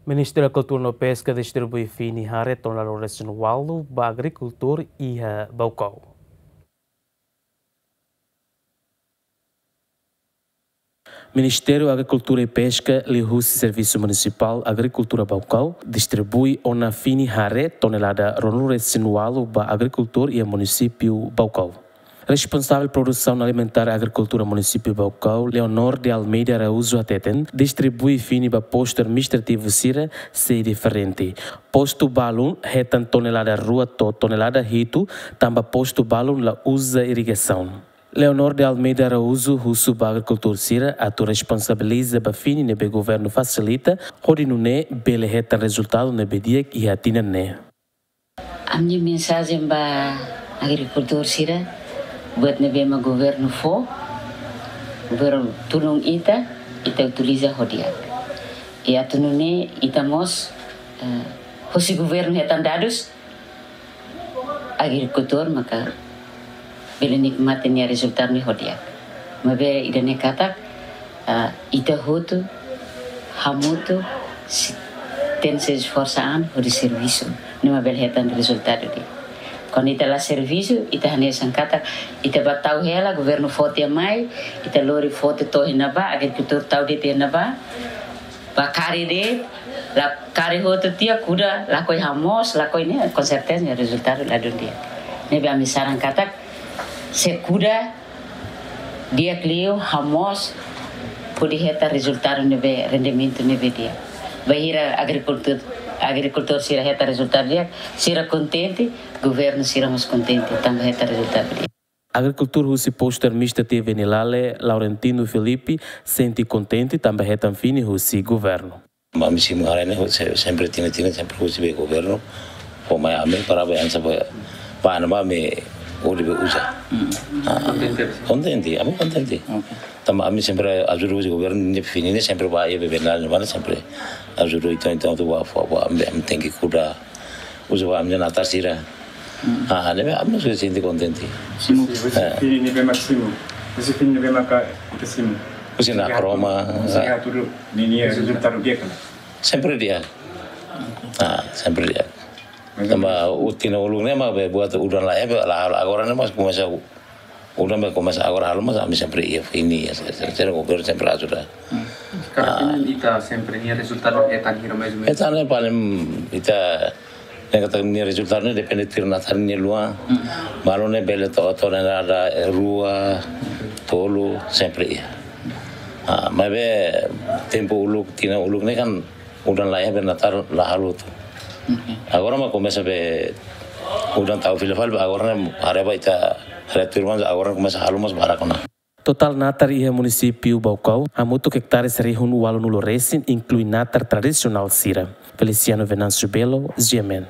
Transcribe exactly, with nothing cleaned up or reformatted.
Ministériu Agrikultura no Peska distribui fini haree tonelada resin ualu ba agrikultór iha Baucau. Ministériu Agrikultura i Peska liuhusi Servisu Munisipál Agrikultura Baucau distribui ona fini haree tonelada ruanulu resin ualu ba agrikultór iha munisípiu Baucau. Responsavel Produsaun Alimentár Agrikultura Munisípiu Baucau, Leonor de Almeida Araújo hateten, distribui fini ba postu administrativu sira sei diferente. Postu balun hetan tonelada rua to'o tonelada hitu, tanba postu balun la uza irrigasaun. Leonor de Almeida Araújo husu ba agrikultór sira atu responsabiliza ba fini ne'ebé governu fasilita, hodi nune'e bele hetan rezultadu ne'ebé di'ak iha tinan ne'e. Ami-nia mensajen ba agrikultór sira, buat ne'ebé mak governu fó, governu tulun ita, ita utiliza ho di'ak. I atu nune'e ita mós, eh, husi governu hetan dadus, agrikultór maka bele nikmati nia rezultadu ne'e ho di'ak. Maibé ida-ne'e katak, ah, ita hotu hamutuk sei tenke esforsa an hodi servisu, ne'e mak bele hetan rezultadu di'ak. Kuandu ita la servisu, ita hanesan katak ita bá tau hela, governu fó tiha mai, ita lori fó tiha to'o iha ne'ebá, agrikultór tau de'it iha ne'ebá, bá kari de'it, la kari hotu tiha, kuda, lakohi hamoos, lakohi ne'e, konserteza ne'e rezultadu ladún di'ak. Ne'ebé ami saran katak, se kuda di'ak liu, hamoos, hodi hetan rezultadu ne'ebé, rendimentu ne'ebé di'ak. Bainhira agrikultór, agrikultór sira hetan rezultadu di'ak, sira kontente, governu sira mós kontente, tanba hetan rezultadu di'ak. Agrikultór husi postu administrativu Venilale, Laurentino Filipe, sente kontente tanba hetan fini husi governu. Ami simu haree ne'e, se-, sempre tinan-tinan, sempre husi be governu fó mai ami para be ansa be, ba ne'ebá ami hodi be uza. Hmm. Ah, kontente, kontente, ami kontente. Oke. Tanba ami sempre ajuda husi governu, ne'e fini ne'e sempre ba iha be Venilale ne'ebá ne'e sempre ajuda, entaun, entaun atu ba fó, ba ami, ami tenke kuda, uza ba ami-nia natar sira. Hmm. Ah, ne'ebé ami sente kontente. Simu. Eh. Husi fini ne'ebé mak simu. Husi fini ne'ebé maka ita simu. Husi Nakroma, husi ah. Atu nune'e rezultadu di'ak ka lae? Sempre di'ak. Ah, sempre di'ak. Tanba tinan uluk ne'e mak be buat udan la iha be, la, agora ne'e mak komesa u-, udan be komesa agora halo, mas ami sempre iha fini, ya, se-, se-, se-, governu sempre ajuda. Hmm. Karik ita sempre nia rezultadu hetan hira mais ou menos? Hetan ne'e paling ita, ne'e katak nia rezultadu ne'e depende tuir natar nia luan. Hmm. Balun ne'e bele to'o, to'o ne'e ada rua, tolu, sempre iha. Ah, maibé tempu uluk, tinan uluk ne'e kan udan la iha be natar la halo hotu. Oke. Agora mak komesa be udan tau fila fali, agora ne'e haree ba ita, haree tuir maibé agora komesa halo mós barak ona. Totál natar iha munisípiu Baucau hamutuk ektares rihun ualunulu resin, inklui natar tradisionál sira. Feliciano Venâncio Belo, G M N.